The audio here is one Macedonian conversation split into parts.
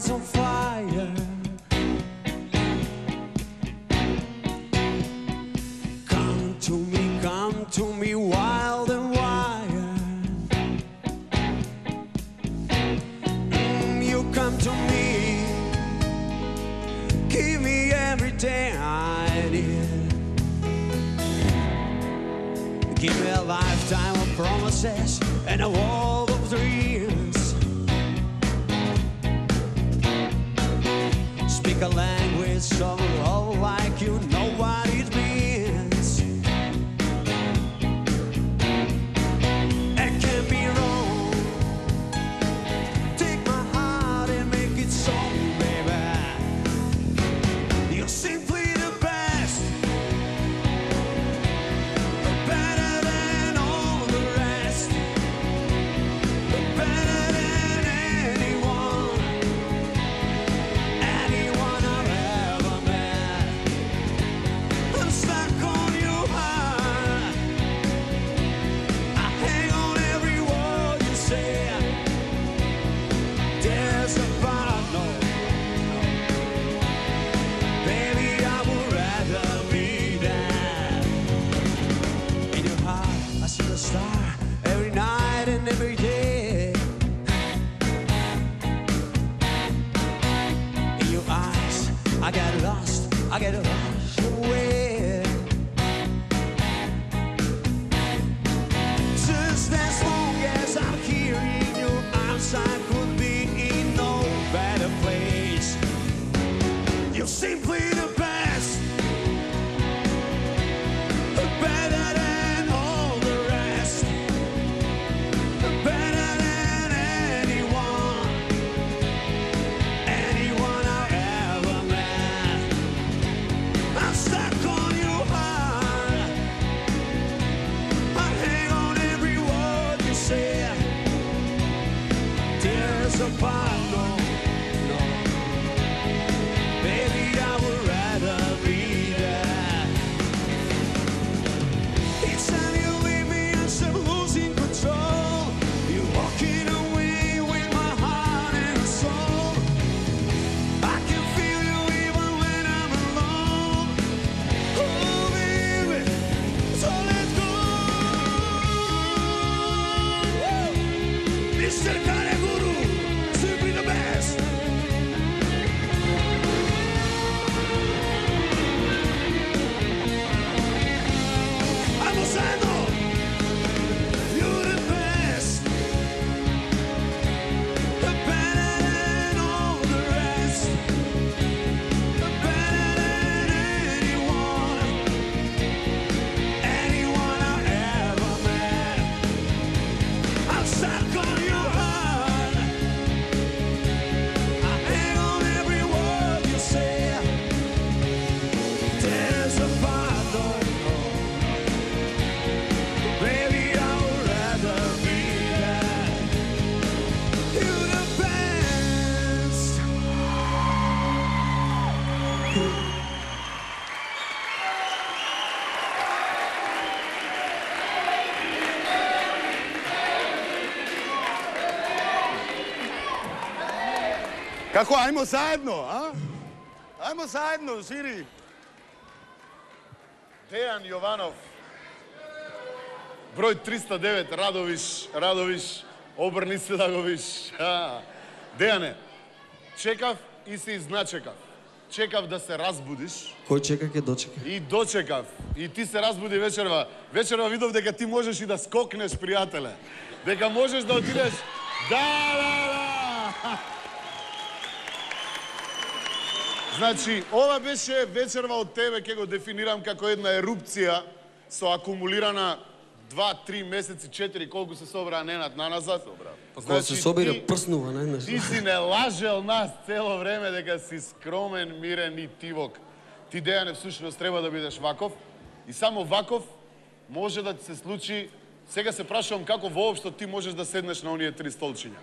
was on fire. Come to me, wild and wild. You come to me, give me everything I need. Give me a lifetime of promises and a world of dreams. Speak a language so low like you know what it means. It can't be wrong. Take my heart and make it so, baby. You're simply the best, better than all the rest, better than anyone I've ever met. I'm stuck on your heart. I hang on every word you say. There's a part, no, baby, I would rather be there. In your heart, I see the star every night and every day. In your eyes, I get lost away. Just as long as I'm here in your arms, I could be in no better place. You're simply the best, better than all the rest, better than anyone I've ever met. I'm stuck on your heart. I hang on every word you say. There's a part, no, baby, I would rather be there. Each time you leave me, I'm losing control. You're walking away with my heart and soul. I can feel you even when I'm alone. Oh, baby, so let's go. Mr. Kaneguru, simply the best. Amosano, you're the best, better than all the rest, better than anyone I've ever met. I'm stuck on your heart. I hang on every word you say. There's a part, no, baby, I would rather be there. You're the best. Како, ајмо заедно, а? Ајмо заедно, Жири. Дејан Јованов, број 309, Радовиш, обрни се да го виш. Дејане, чекав и се изначекав. Чекав да се разбудиш. Кој чека ке дочека? И дочекав. И ти се разбуди вечерва. Вечерва видов дека ти можеш и да скокнеш, пријателе. Дека можеш да отидеш. Да. Значи, ова беше вечерва од тебе, ке го дефинирам како една ерупција со акумулирана 2-3 месеци, 4, колку се собраа Ненад наназад. Па кога се собира, прснува, не? Ти си не лажел нас цело време дека си скромен, мирен и тивок. Ти, Дејане, всушност треба да бидеш ваков. И само ваков може да ти се случи. Сега се прашувам како воопшто ти можеш да седнеш на оние 3 столчиња.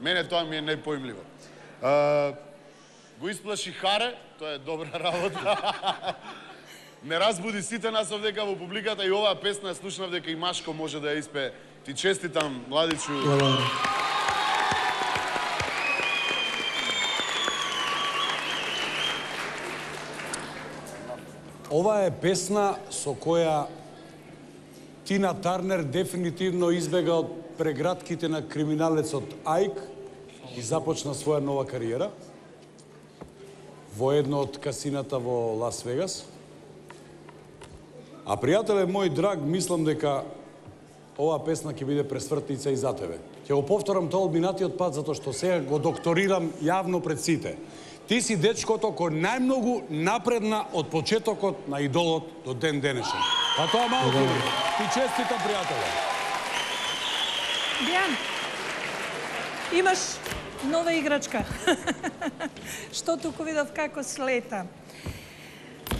Мене тоа ми е непоимливо. Го исплаши Харе, тоа е добра работа. Не разбуди сите нас овдека во публиката и оваа песна слушнав дека и Машко може да ја испее. Ти честитам, младичу. Ова е песна со која Тина Тарнер дефинитивно избега од прегратките на криминалецот Ајк и започна своја нова кариера во едно од касината во Лас Вегас. А пријателе мој драг, мислам дека оваа песна ќе биде пресвртница и за тебе. Ќе го повторам тоа од минатиот пат, затоа што сега го докторирам јавно пред сите. Ти си дечкото кој најмногу напредна од почетокот на Идолот до ден денешен. Па тоа малку ти честитам, пријателе. Дејан, имаш нова играчка. Што туку видов како слета.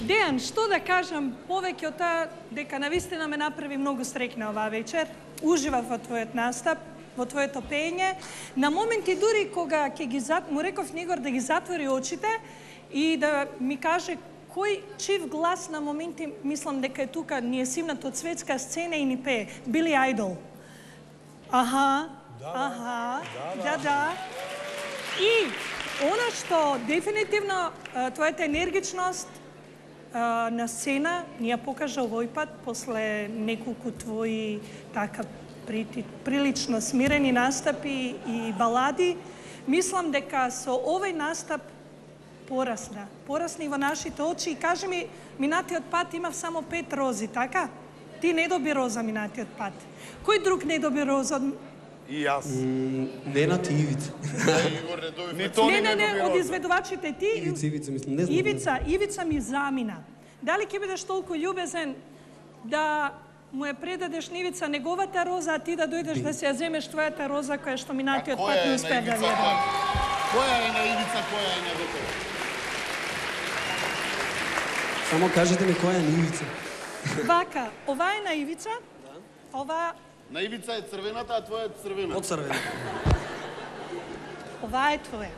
Дејан, што да кажам повеќе од таа дека навистина ме направи многу среќна оваа вечер. Уживав во твојот настап, во твоето пење. На моменти дури кога му реков Нигор да ги затвори очите и да ми каже кој чив глас на моменти, мислам дека е тука, ни е симнат од светска сцена и ни пее. Били Ајдол. Аха, да. И она што дефинитивно твојата енергичност на сцена ни ја покажа овој пат после неколку твои така прилично смирени настапи и балади. Мислам дека со овој настап порасни во нашите очи и кажи ми, минатиот пат имав само 5 рози, така? Ти не доби роза минатиот пат. Кој друг не доби роза? И јас. Ненат и Ивица. Не, од изведувачите ти. Ивица, мислам, не знам. Ивица ми замина. Дали ќе бидеш толку љубезен да му ја предадеш на Ивица неговата роза, а ти да дојдеш да се ја земеш твојата роза која што минатиот пат не успеа да види? Која е на Ивица, која е на Виктор? Само кажете ми која е на Ивица. Вака, ова е на Ивица, ова... На Ивица е црвената, а твоја е црвена. Од црвена. Ова е твоја.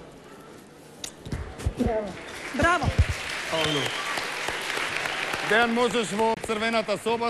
Браво. Дејан, можеш во црвената соба.